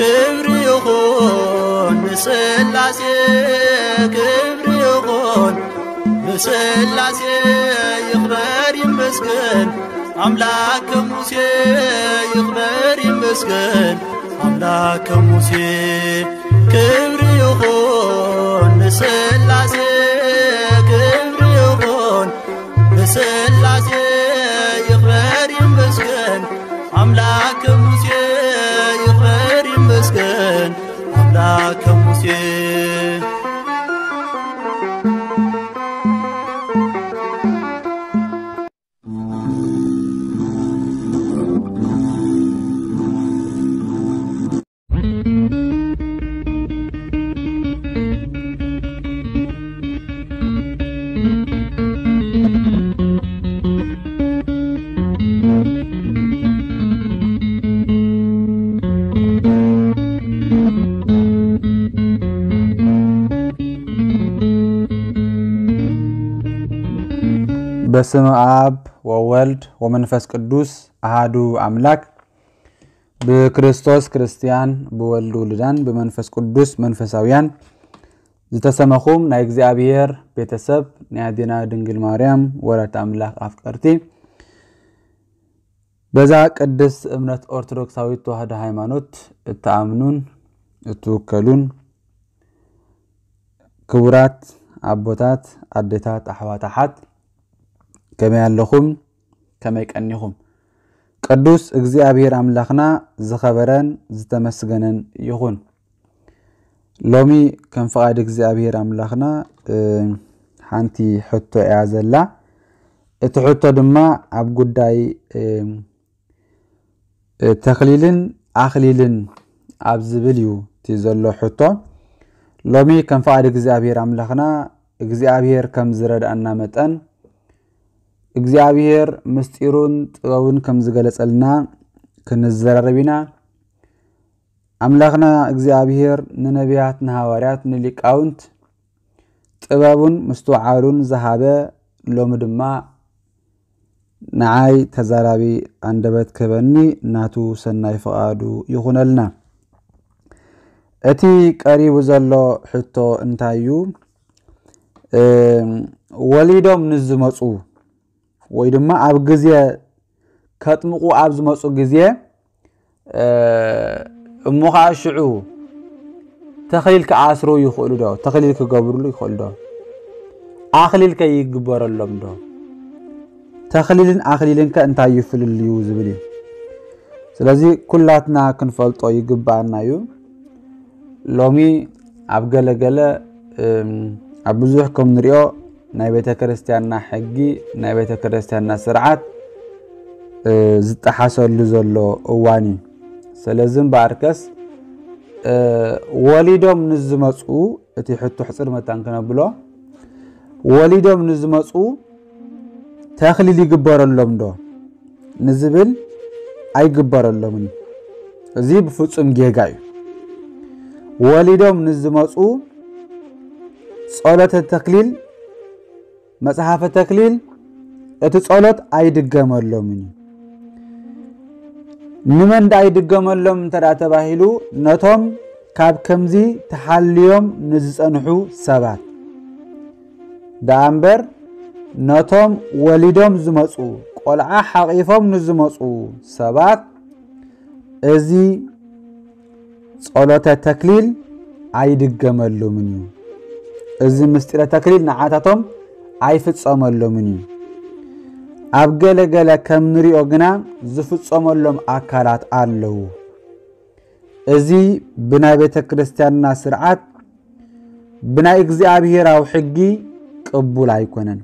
ክብሪ ይኹን ንስላሴ፣ ክብሪ ይኹን ንስላሴ፣ ይኽበር ይመስገን ኣምላክ ከሙሴ፣ ይኽበር ይመስገን ኣምላክ ከሙሴ። ክብሪ ይኹን ንስላሴ፣ ክብሪ ይኹን ንስላሴ፣ ይኽበር ይመስገን ኣምላክ ከሙሴ፣ ይኽበር ይመስገን ኣምላክ ከሙሴ። በስመ አብ ወወልድ ወመንፈስ ቅዱስ አሃዱ አምላክ። ብክርስቶስ ክርስቲያን፣ ብወልድ ውሉዳን፣ ብመንፈስ ቅዱስ መንፈሳውያን ዝተሰመኹም ናይ እግዚኣብሔር ቤተሰብ፣ ናይ ኣዴና ድንግል ማርያም ወላዲተ ኣምላኽ ኣፍቀርቲ፣ በዛ ቅድስት እምነት ኦርቶዶክሳዊት ተዋህዶ ሃይማኖት እትኣምኑን እትውከሉን ክቡራት ኣቦታት፣ ኣዴታት፣ ኣሕዋት፣ ኣሓት፣ ከመይ ኣለኹም? ከመይ ቀኒኹም? ቅዱስ እግዚኣብሔር ኣምላኽና ዝኸበረን ዝተመስገነን ይኹን። ሎሚ ከም ፍቓድ እግዚኣብሔር ኣምላኽና፣ እ፣ ሓንቲ ሕቶ እያ ዘላ። እቲ ሕቶ ድማ ኣብ ጉዳይ፣ እ፣ እ፣ ተኽሊልን ኣኽሊልን ኣብ ዝብል እዩ እቲ ዘሎ ሕቶ። ሎሚ ከም ፍቓድ እግዚኣብሔር ኣምላኽና፣ እግዚኣብሔር ከም ዝረድኣና መጠን፣ እግዚኣብሔር ምስጢሩን ጥበቡን ከም ዝገለጸልና ክንዘራረብ ኢና። ኣምላኽና እግዚኣብሔር ንነቢያት፣ ንሃዋርያት፣ ንሊቃውንት ጥበቡን ምስትውዓሉን ዝሃበ፣ ሎሚ ድማ ንዓይ ተዛራቢ ኣንደበት ክህበኒ ናቱ ሰናይ ፍቓዱ ይኹነልና። እቲ ቀሪቡ ዘሎ ሕቶ እንታይ እዩ? እም፣ ወሊዶም ንዝመጹ ወይ ድማ ኣብ ግዜ ከጥምቑ ኣብ ዝመጹ ግዜ፣ እ፣ እሞ ኸዓ ሽዑ ተኽሊል ክኣስሩ ይኽእሉ ዶ? ተኽሊል ክገብርሉ ይኽእሉ ዶ? ኣኽሊል ከ ይግበረሎም ዶ? ተኽሊልን ኣኽሊልን ከ እንታይ እዩ ፍልልዩ ዝብል እዩ። ስለዚ ኩላትና ክንፈልጦ ይግባኣና እዩ። ሎሚ ኣብ ገለ ገለ፣ እም፣ ኣብ ብዙሕ ከም ንሪኦ ናይ ቤተ ክርስቲያንና ሕጊ፣ ናይ ቤተ ክርስቲያንና ስርዓት፣ እ፣ ዝጠሓሰሉ ዘሎ እዋን እዩ። ስለዚ እምበኣርከስ፣ እ፣ ወሊዶም ንዝመፁ፣ እቲ ሕቶ ሕፅር መታን ክነብሎ፣ ወሊዶም ንዝመፁ ተኽሊል ይግበረሎም ዶ ንዝብል፣ ኣይግበረሎምን። እዚ ብፍጹም ጌጋ እዩ። ወሊዶም ንዝመፁ ጸሎተ ተክሊል፣ መጽሓፈ ተክሊል፣ እቲ ጸሎት ኣይድገመሎምን እዩ። ንመን ደኣ ይድገመሎም እንተ ደኣ ተባሂሉ፣ ነቶም ካብ ከምዚ ተሓልዮም ንዝጸንሑ ሰባት። ደኣ እምበር፣ ነቶም ወሊዶም ዝመጹ፣ ቆልዓ ሓቒፎም ንዝመጹ ሰባት፣ እዚ ጸሎተ ተክሊል ኣይድገመሎምን እዩ። እዚ ምስጢረ ተክሊል ንዓታቶም ኣይፍጸመሎምን እዩ። ኣብ ገለ ገለ ከም ንሪኦ ግና ዝፍጸመሎም ኣካላት ኣለዉ። እዚ ብናይ ቤተ ክርስቲያንና ስርዓት፣ ብናይ እግዚኣብሄራዊ ሕጊ ቅቡል ኣይኮነን።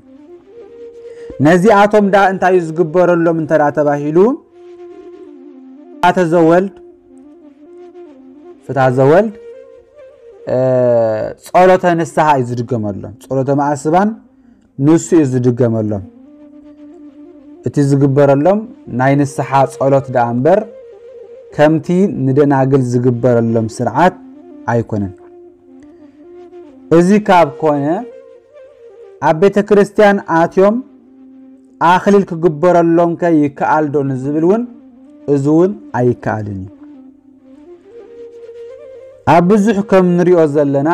ነዚኣቶም ደኣ እንታይ እዩ ዝግበረሎም እንተ ደኣ ተባሂሉ፣ ፍትሐተ ዘወልድ፣ ፍትሐ ዘወልድ፣ እ፣ ጸሎተ ንስሓ እዩ ዝድገመሎም። ጸሎተ መዓስባን ንሱ እዩ ዝድገመሎም። እቲ ዝግበረሎም ናይ ንስሓ ጸሎት ደኣ እምበር፣ ከምቲ ንደናግል ዝግበረሎም ስርዓት ኣይኮነን። እዚ ካብ ኮነ፣ ኣብ ቤተ ክርስቲያን ኣትዮም ኣኽሊል ክግበረሎም ከ ይከኣል ዶ ንዝብል እውን፣ እዚ እውን ኣይከኣልን እዩ። ኣብ ብዙሕ ከም ንሪኦ ዘለና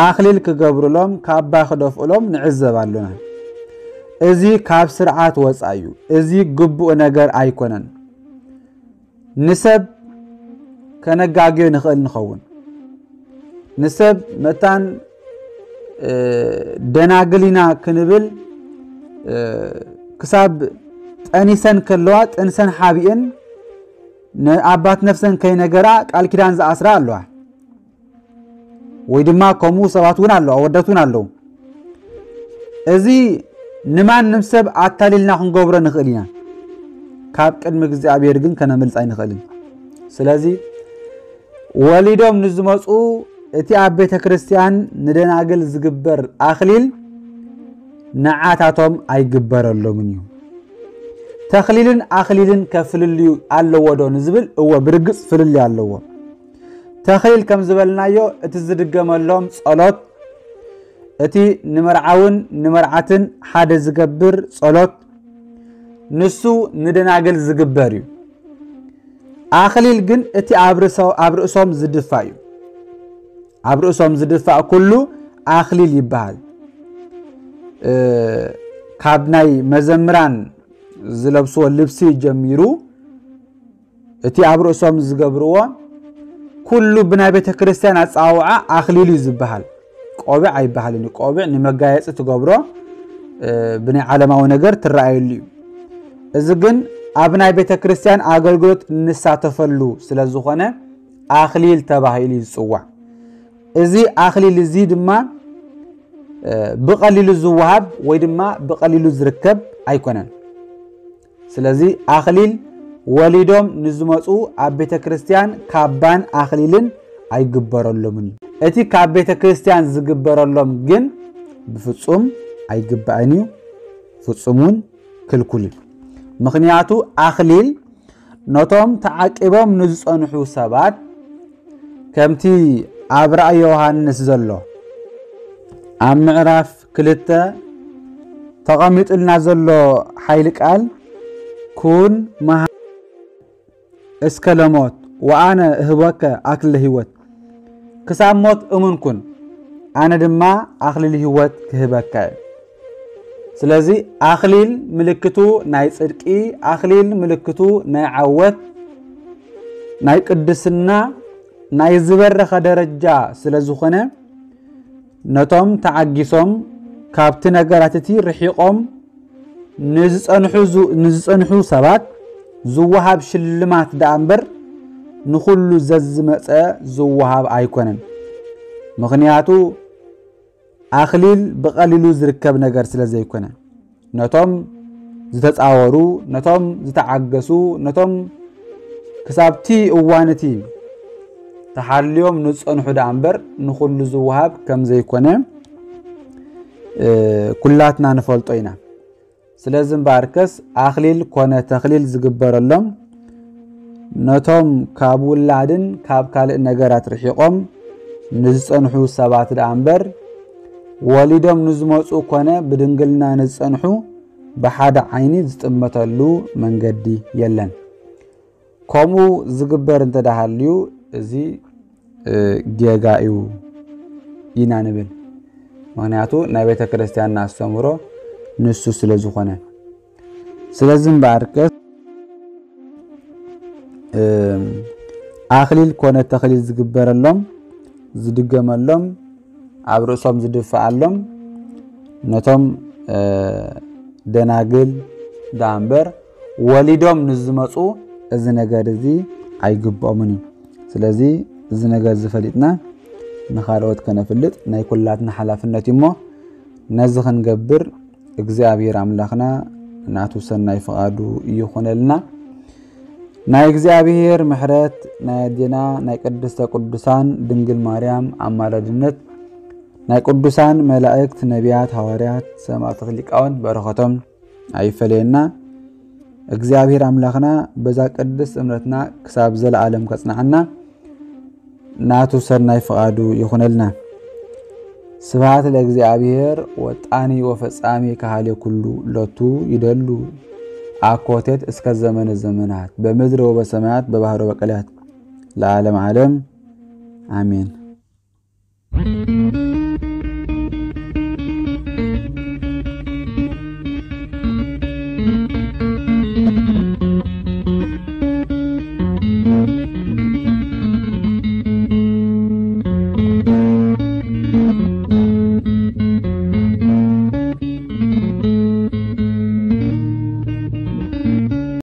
ኣኽሊል ክገብሩሎም ካባ ክደፍኡሎም ንዕዘብ ኣሎና። እዚ ካብ ስርዓት ወፃእ እዩ። እዚ ግቡእ ነገር ኣይኮነን። ንሰብ ከነጋግዮ ንኽእል ንኸውን። ንሰብ መታን ደናግል ኢና ክንብል ክሳብ ጠኒሰን ከለዋ ጥንሰን ሓቢእን ንኣባት ነፍሰን ከይነገራ ቃል ኪዳን ዝኣስራ ኣለዋ። ወይ ድማ ከምኡ ሰባት እውን ኣለዉ፣ ኣወዳት እውን ኣለዉ። እዚ ንማንም ሰብ ኣታሊልና ክንገብሮ ንኽእል ኢና፣ ካብ ቅድሚ እግዚኣብሔር ግን ከነምልጥ ኣይንኽእልን። ስለዚ ወሊዶም ንዝመፁ እቲ ኣብ ቤተ ክርስቲያን ንደናግል ዝግበር ኣኽሊል ንዓታቶም ኣይግበረሎምን እዩ። ተኽሊልን ኣኽሊልን ከፍልልዩ ኣለዎ ዶ ንዝብል፣ እወ፣ ብርግጽ ፍልልይ ኣለዎ። ተኽሊል ከም ዝበልናዮ እቲ ዝድገመሎም ጸሎት፣ እቲ ንመርዓውን ንመርዓትን ሓደ ዝገብር ጸሎት፣ ንሱ ንደናግል ዝግበር እዩ። ኣኽሊል ግን እቲ ኣብ ርእሶ-፣ ኣብ ርእሶም ዝድፋእ እዩ። ኣብ ርእሶም ዝድፋእ ኩሉ ኣኽሊል ይበሃል። እ፣ ካብ ናይ መዘምራን ዝለብስዎ ልብሲ ጀሚሩ እቲ ኣብ ርእሶም ዝገብርዎ ኩሉ ብናይ ቤተ ክርስቲያን ኣጸዋውዓ ኣኽሊል እዩ ዝበሃል። ቆቢዕ ኣይበሃልን እዩ። ቆቢዕ ንመጋየጺ ትገብሮ፣ እ፣ ብናይ ዓለማዊ ነገር ትረኣየሉ እዩ። እዚ ግን ኣብ ናይ ቤተ ክርስቲያን ኣገልግሎት እንሳተፈሉ ስለ ዝኾነ ኣኽሊል ተባሂሉ ይጽዋዕ። እዚ ኣኽሊል እዚ ድማ፣ እ፣ ብቐሊሉ ዝወሃብ ወይ ድማ ብቐሊሉ ዝርከብ ኣይኮነን። ስለዚ ኣኽሊል ወሊዶም ንዝመጹ ኣብ ቤተ ክርስቲያን ካባን ኣኽሊልን ኣይግበረሎምን እዩ። እቲ ካብ ቤተ ክርስቲያን ዝግበረሎም ግን ብፍጹም ኣይግባእን እዩ፣ ፍጹም እውን ክልኩል እዩ። ምኽንያቱ ኣኽሊል ነቶም ተዓቂቦም ንዝጸንሑ ሰባት፣ ከምቲ ኣብ ራእይ ዮሃንስ ዘሎ፣ ኣብ ምዕራፍ ክልተ ተቐሚጡልና ዘሎ ሓይሊ ቃል፣ ኩን መሃ-፣ እስከ ለሞት ወኣነ እህበከ ኣክሊለ ህይወት፣ ክሳብ ሞት እሙን ኩን፣ ኣነ ድማ ኣኽሊል ህይወት ክህበካ እየ። ስለዚ ኣኽሊል ምልክቱ ናይ ጽድቂ፣ ኣኽሊል ምልክቱ ናይ ዓወት፣ ናይ ቅድስና፣ ናይ ዝበረኸ ደረጃ ስለ ዝኾነ፣ ነቶም ተዓጊሶም ካብቲ ነገራት እቲ ርሒቖም ንዝጸንሑ ዝ-፣ ንዝጸንሑ ሰባት ዝወሃብ ሽልማት ደኣ እምበር ንኹሉ ዘዝመጸ ዝወሃብ ኣይኮነን። ምኽንያቱ ኣኽሊል ብቐሊሉ ዝርከብ ነገር ስለ ዘይኮነ፣ ነቶም ዝተጻወሩ፣ ነቶም ዝተዓገሱ፣ ነቶም ክሳብቲ እዋን እቲ ተሓልዮም ንዝጸንሑ ደኣ እምበር ንኹሉ ዝወሃብ ከም ዘይኮነ፣ እ፣ ኩላትና ንፈልጦ ኢና። ስለዚ እምበኣርከስ ኣኽሊል ኮነ ተኽሊል ዝግበረሎም ነቶም ካብ ውላድን ካብ ካልእ ነገራት ርሒቖም ንዝጸንሑ ሰባት ደኣ እምበር፣ ወሊዶም ንዝመጹ ኮነ ብድንግልና ንዝጸንሑ ብሓደ ዓይኒ ዝጥመተሉ መንገዲ የለን። ከምኡ ዝግበር እንተ ደኣ ሃልዩ፣ እዚ፣ እ፣ ጌጋ እዩ ኢና ንብል። ምኽንያቱ ናይ ቤተ ክርስቲያንና ኣስተምህሮ ንሱ ስለ ዝኾነ። ስለዚ እምበኣርከስ፣ እ፣ ኣኽሊል ኮነ ተኽሊል ዝግበረሎም፣ ዝድገመሎም፣ ኣብ ርእሶም ዝድፍኣሎም፣ ነቶም፣ እ፣ ደናግል ደኣ እምበር ወሊዶም ንዝመጹ እዚ ነገር እዚ ኣይግብኦምን እዩ። ስለዚ እዚ ነገር እዚ ፈሊጥና ንኻልኦት ከነፍልጥ ናይ ኩላትና ሓላፍነት እዩ እሞ፣ ነዚ ክንገብር እግዚኣብሔር ኣምላኽና ናቱ ሰናይ ፍቓዱ ይኹነልና። ናይ እግዚኣብሔር ምሕረት፣ ናይ ኣዴና ናይ ቅድስተ ቅዱሳን ድንግል ማርያም ኣማላድነት፣ ናይ ቅዱሳን መላእክት፣ ነቢያት፣ ሃዋርያት፣ ሰማዕታት፣ ሊቃውንት በረኸቶም ኣይፈለየና። እግዚኣብሔር ኣምላኽና በዛ ቅድስት እምነትና ክሳብ ዘለዓለም ከጽንዓና ናቱ ሰናይ ፍቓዱ ይኹነልና። ስብሐት ለእግዚኣብሔር ወጣኒ ወፈጻሚ ከሃሌ ኩሉ ሎቱ ይደሉ አኮቴት እስከ ዘመነ ዘመናት በምድር ወበሰማያት በባህር ወበቀላያት። ለዓለም ዓለም ኣሜን።